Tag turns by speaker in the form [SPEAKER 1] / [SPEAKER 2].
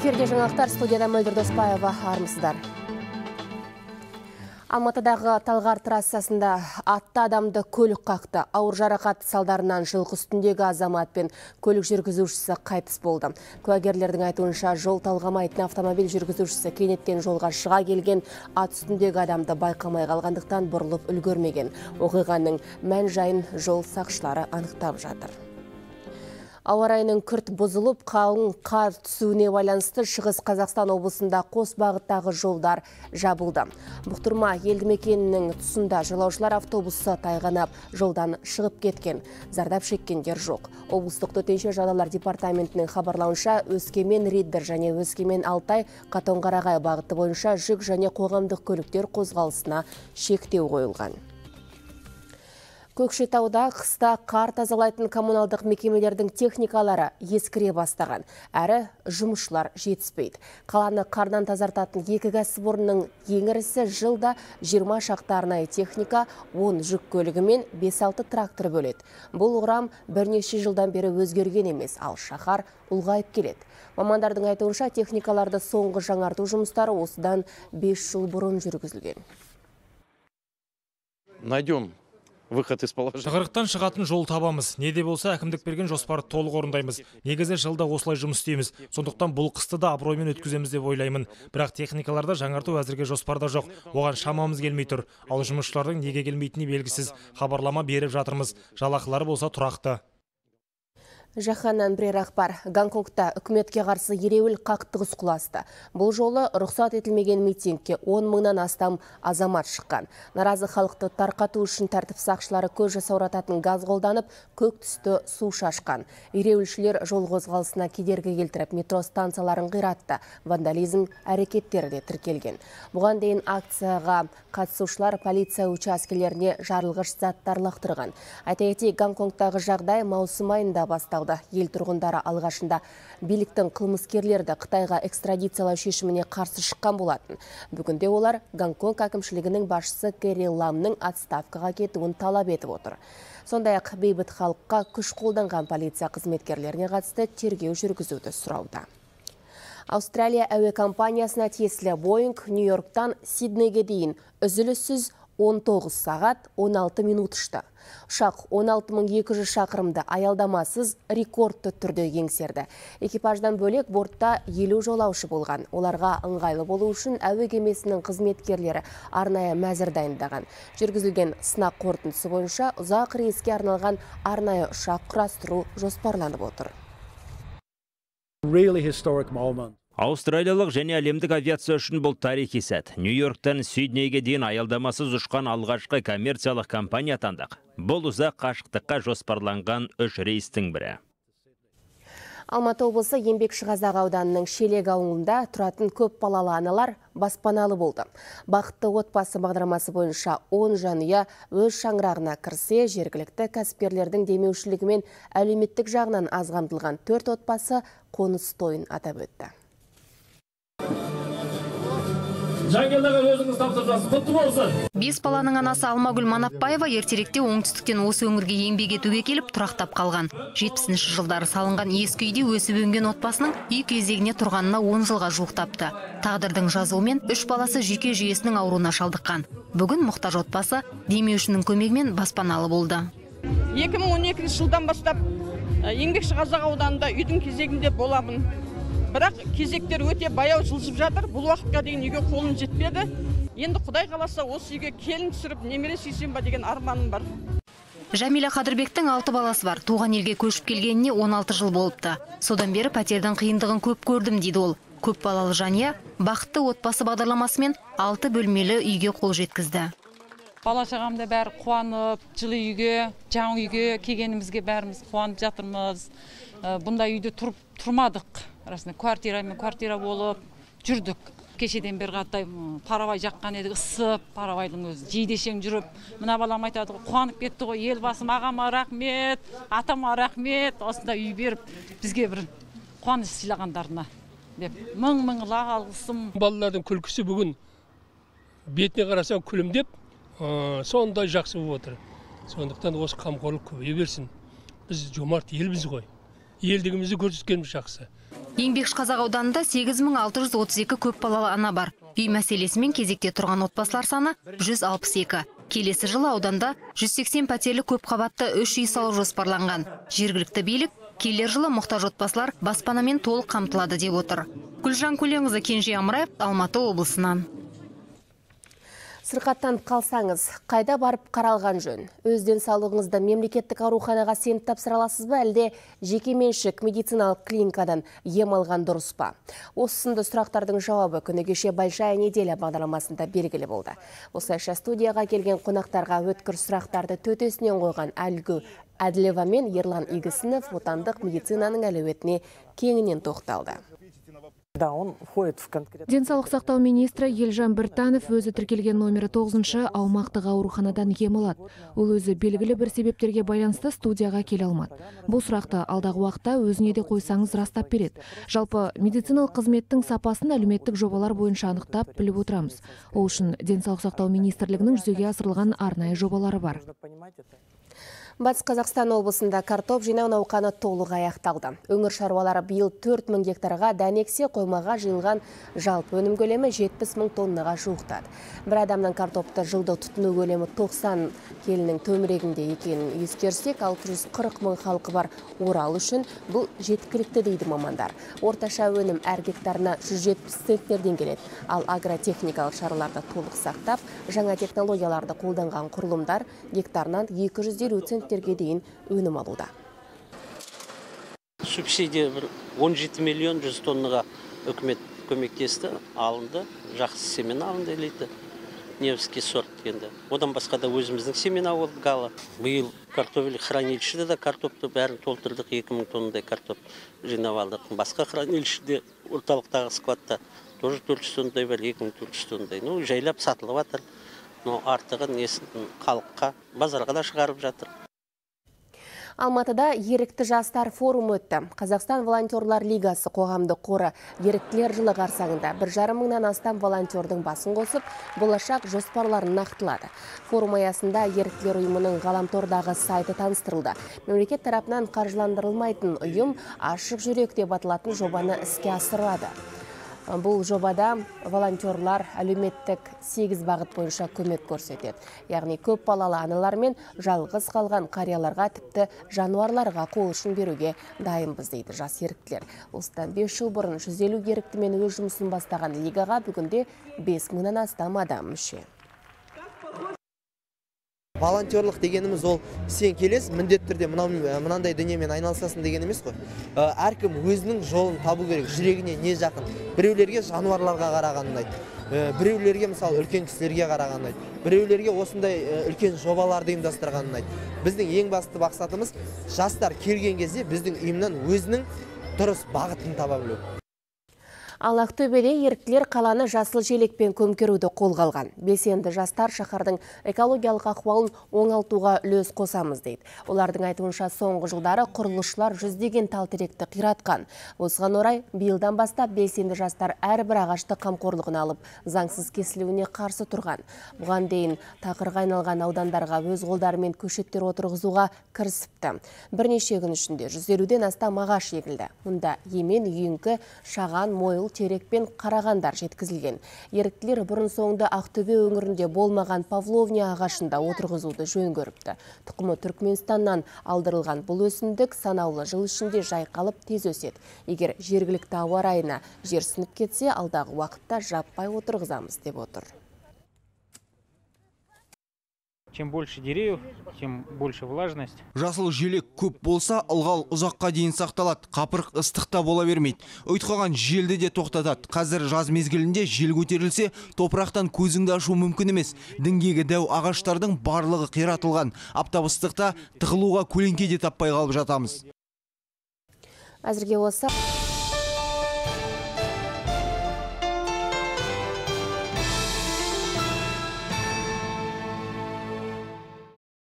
[SPEAKER 1] Эфирде жаңалықтар, студияда Мөлдір Доспаева, армысыздар. Алматыдағы Талғар трассасында атты адамды көлік қақты. Ауыр жарақат салдарынан жылқы үстіндегі азамат пен көлік жүргізушісі қайтыс болды. Куәгерлердің айтуынша, жол талғамайтын автомобиль жүргізушісі кенеттен жолға шыға келген ат үстіндегі адамды байқамай қалғандықтан бұрылып үлгермеген. Оқиғаның мән жайын жол сақшылары анықтап жатыр. Ауа райының күрт бұзылып, қалың қар түсуіне байланысты Шығыс Қазақстан облысында қос бағыттағы жолдар жабылды. Бұқтырма елді мекенінің тұсында жолаушылар автобусы тайғанап, жолдан шығып кеткен. Зардап шеккендер жоқ. Облыстық төтенше жағдайлар департаментінің хабарлауынша, Өскемен-Риддер және Өскемен-Алтай Қатонқарағай бағыты бойынша жүк және қоғамдық көліктер қозғалысына шектеу қойылған. Көкшетауда қыста қар тазалайтын коммуналдық мекемелердің техникалары ескіре бастаған, әрі жұмысшылар жетіспейді. Қаланы қардан тазартатын екі кәсіпорынның ең ірісі жылда 20 шақты арнайы техника, 10 жүк көлігі мен 5-6 трактор бөледі. Бұл құрам бірнеше жылдан бері өзгерген емес, ал шаһар ұлғайып келеді. Мамандардың айтуынша, техникаларды соңғы жаңарту жұмыстары осыдан 5 жыл бұрын жүргізілген.
[SPEAKER 2] Найдем выход из положения.
[SPEAKER 3] Тығырықтан шығатын жол табамыз. Не де болса әкімдік берген жоспарды толық орындаймыз. Негізі жылда осылай жұмыс істейміз. Сондықтан бұл қысты да абыроймен өткіземіз деп ойлаймын. Бірақ техникаларда жаңарту әзірге жоспарда жоқ. Оған шамамыз келмей тұр. Ал жұмысшылардың неге келмейтіні белгісіз. Хабарлама беріп жатырмыз. Жалақылары болса тұрақты.
[SPEAKER 1] Жаһаннан бірер ақпар. Гонконгта үкіметке қарсы ереуіл қақтығыс құласты. Бұл жолы рұқсат етілмеген митингке 10 мыңнан астам азамат шыққан. Наразы халықты тарқату үшін тәртіп сақшылары көз жасаурататын газ қолданып, көк түсті су шашқан. Ереуілшілер жол қозғалысына кедергі келтіріп, метро станцияларын қиратты. Вандализм әрекеттері де тіркелген. Бұған дейін акцияға қатысушылар полиция учаскелеріне жарылғыш заттар лақтырған. Айта кетейік, Гонконгтағы жағдай маусым айында басталды. Ел тұрғындары алғашында биліктің қылмыскерлерді Қытайға экстрадициялау шешіміне қарсы шыққан болатын. Бүгінде олар Гонконг әкімшілігінің басшысы Кэрри Ламның отставкаға кетуін талап етіп отыр. Сондай-ақ бейбіт халыққа күш қолданған полиция қызметкерлеріне қатысты тергеу жүргізуді сұрауда. Австралия әуе компаниясына тиесілі Боинг Нью-Йорктан Сиднейге дейін үзіліссіз 19 сағат 16 минут ұшты. Ұшақ 16200 шақырымды аялдамасыз рекордты түрде еңсерді. Экипаждан бөлек бортта 50 жолаушы болған. Оларға ыңғайлы болу үшін әуе кемесінің қызметкерлері арнайы мәзір дайындаған. Жүргізілген сынақ қорытындысы бойынша ұзақ рейске арналған арнайы ұшақ құрастыру жоспарланып отыр.
[SPEAKER 4] Аустралиялық және әлемдік авиация үшін бұл тарихи сәт. Нью-Йорктан Сиднейге дейін аялдамасыз ұшқан алғашқы коммерциялық компания атандық. Бұл ұзақ қашықтыққа жоспарланған 3 рейстің бірі.
[SPEAKER 1] Алматы облысы Еңбекшіқазақ ауданының Шелек ауылында тұратын көп балалы аналар баспаналы болды. Бақытты отбасы бағдарламасы бойынша 10 жанұя өз шаңырағына кірсе, жергілікті кәсіпкерлердің демеушілігімен әлеуметтік жағынан аз қамтылған 4 отбасы қоныс тойын атап өтті.
[SPEAKER 5] Бес баланың анасы Алмагүл Манапбаева ертеректе оңтүстіктен осы өңірге еңбек етуге келіп тұрақтап қалған. 70-ші жылдары салынған ескі үйде өсіп өнген отбасының үй кезегіне тұрғанына 10 жылға жуықтапты. Тағдырдың жазуымен 3 баласы жүйке жүйесінің ауруына шалдыққан. Бүгін мұқтаж отбасы демеушінің көмегімен баспаналы болды.
[SPEAKER 6] 2012 жылдан бастап Еңбекшіқазақ ауданында үйдің кезегінде боламын. Бірақ кезектер өте баяу жылжып жатыр. Бұл уақытқа дейін үйге қолым жетпеді. Енді Құдай қаласа осы үйге келін түсіріп, немере сүйсем ба деген арманым бар.
[SPEAKER 5] Жәмила Қадырбектің 6 баласы бар. Туған елге көшіп келгеніне 16 жыл болыпты. Содан бері пәтердің қиындығын көп көрдім дейді ол. Көп балалы жанұя бақытты отбасы бағдарламасымен 6 бөлмелі үйге қол жеткізді.
[SPEAKER 7] Бала-шағамда бәрі қуанып, жылы үйге, жаңа үйге келгенімізге бәріміз қуанып жатырмыз. Бұндай үйде тұрмадық. Расында квартира болып жүрдік. Кешеден бері қаттай парабай жаққан едік, ысып, парабайдың өзі жейдешең жүріп. Мына балам айтады, қуанып кетті ғой, елбасым ағама рахмет, атама рахмет, осында үй беріп, бізге бір қуаныш сыйлағандарына деп. Мың алғысым.
[SPEAKER 8] Балалардың күлкісі бүгін бетіне қарасаң күлімдеп, сондай жақсы болып отыр. Сондықтан осы қамқорлық көбейе берсін. Біз жомарт елбіз ғой. Елдігімізді көрсеткеніміз жақсы.
[SPEAKER 5] Еңбекшіқазақ ауданында 8632 көпбалалы ана бар. Үй мәселесімен кезекте тұрған отбасылар саны 162. Келесі жылы ауданда 180 пәтерлі көпқабатты 3 үй салу жоспарланған. Жергілікті билік келер жылы мұқтаж отбасылар баспанамен толық қамтылады деп отыр. Гүлжан Көленқызы, Кенже Амраев, Алматы облысынан.
[SPEAKER 1] Сырқаттанып қалсаңыз, қайда барып қаралған жөн? Өз денсаулығыңызды мемлекеттік ауруханаға сеніп тапсыра аласыз ба, әлде жекеменшік медициналық клиникадан ем алған дұрыс па? Осы сынды сұрақтардың жауабы күні кеше Большая неделя бағдарламасында белгілі болды. Осылайша студияға келген қонақтарға өткір сұрақтарды төтесінен қойған Әлгі Әділева мен Ерлан Игісінов отандық медицинаның әлеуетіне кеңінен тоқталды.
[SPEAKER 9] Денсаулық сақтау министрі Елжан Біртанов өзі тіркелген номері 9-шы аумақтық ауруханадан ем алады. Ол өзі белгілі бір себептерге байланысты студияға келе алмады. Бұл сұрақты алдағы уақытта өзіне де қойсаңыз растап береді. Жалпы медициналық қызметтің сапасын әлеуметтік жобалар бойынша анықтап біліп отырамыз. Ол үшін денсаулық сақтау министрлігінің жүзеге асырылған арнайы жобалары бар.
[SPEAKER 1] Батыс Қазақстан облысында картоп жинау науқаны толық аяқталды. Өңір шаруалары биыл 4000 гектарға дәнексе қоймаға жиылған жалпы өнім көлемі 70 000 тоннаға жуықтады. Бір адамның картопты жылды тұтыну көлемі 90 келінің төңірегінде екенін ескерсек, 640 000 халқы бар Орал үшін бұл жеткілікті дейді мамандар. Орташа өнім әр гектарына 170 центнерден келеді. Ал агротехникалық шараларды толық сақтап, жаңа технологияларды қолданған құрылымдар гектарынан 250 центнерге дейін өнім алуда.
[SPEAKER 10] Субсидия 17 миллион 100 тоннаға үкімет көмектесті, алынды, жақсы семена алынды елейді. Невский сорт енді. Одан басқа да өзіміздің семена олды гала. Биыл картофель хранилищеде да картопты бәрін толтырдық, 2000 тоннадай картоп жинап алдық. Басқа хранилищеде орталықтағы складта тоже 400 тоннадай бар, 2400 тоннадай. Жайлап сатылып жатыр. Артығын халыққа, базарға да шығарып жатыр.
[SPEAKER 1] Алматыда ерікті жастар форум өтті. Қазақстан волонтерлар лигасы қоғамдық қоры еріктілер жылы қарсаңында 1,5 мыңнан астам волонтердің басын қосып, болашақ жоспарларын нақтылады. Форум аясында еріктілер ұйымының ғаламтордағы сайты таныстырылды. Мемлекет тарапынан қаржыландырылмайтын ұйым ашық жүрек деп аталатын жобаны іске асырады. Бұл жобада волонтерлар әлеуметтік 8 бағыт бойынша көмек көрсетеді. Яғни көп балалы аналар мен жалғыз қалған қарияларға, тіпті жануарларға қол ұшын беруге дайынбыз дейді жас еріктілер. Осыдан 5 жыл бұрын 150 еріктімен өз жұмысын бастаған лигаға бүгінде 5 мыңнан астам адам мүше.
[SPEAKER 11] Волонтерлық дегеніміз ол сен келес, міндетті түрде мынандай дүниемен айналысасың деген емес қой. Әркім өзінің жолын табу керек, жүрегіне не жақын. Біреулерге жануарларға қараған ұнайды. Біреулерге мысалы үлкен кісілерге қараған ұнайды. Біреулерге осындай үлкен жобаларды ұйымдастырған ұнайды. Біздің ең басты мақсатымыз жастар келген кезде біздің ұйымнан өзінің дұрыс бағытын таба білу.
[SPEAKER 1] Ал Ақтөбеде еріктілер қаланы жасыл желекпен көмкеруді қолға алған. Белсенді жастар шаһардың экологиялық ахуалын оңалтуға үлес қосамыз дейді. Олардың айтуынша соңғы жылдары құрылысшылар жүздеген тал-теректі қиратқан. Осыған орай биылдан бастап белсенді жастар әрбір ағашты қамқорлығына алып, заңсыз кесілуіне қарсы тұрған. Бұған дейін тақырға айналған аудандарға өз қолдарымен көшеттер отырғызуға кірісіпті. Бірнеше күн ішінде 150-ден астам ағаш егілді. Мұнда емен, үйеңкі, шаған, мойыл, терек пен қарағандар жеткізілген. Еріктілер бұрын соңды Ақтөбе өңірінде болмаған павловния ағашында отырғызуды жөн көріпті. Тұқымы Түркменстаннан алдырылған бұл өсімдік санаулы жыл ішінде жайқалып тез өседі. Егер жергілікті ауа райына жерсініп кетсе, алдағы уақытта жаппай отырғызамыз деп отыр.
[SPEAKER 12] Чем больше деревьев, тем больше влажность.
[SPEAKER 13] Жасыл желек көп болса, ылғал ұзаққа дейін сақталады. Қапырық ыстықта бола бермейді. Ұйтқаған желді де тоқтатады. Қазір жаз мезгілінде жел көтерілсе, топырақтан көзіңді ашу мүмкін емес. Діңгегі дәу ағаштардың барлығы қиратылған. Аптап ыстықта тығылуға көлеңке де таппай қалып жатамыз.
[SPEAKER 1] Әзірге осы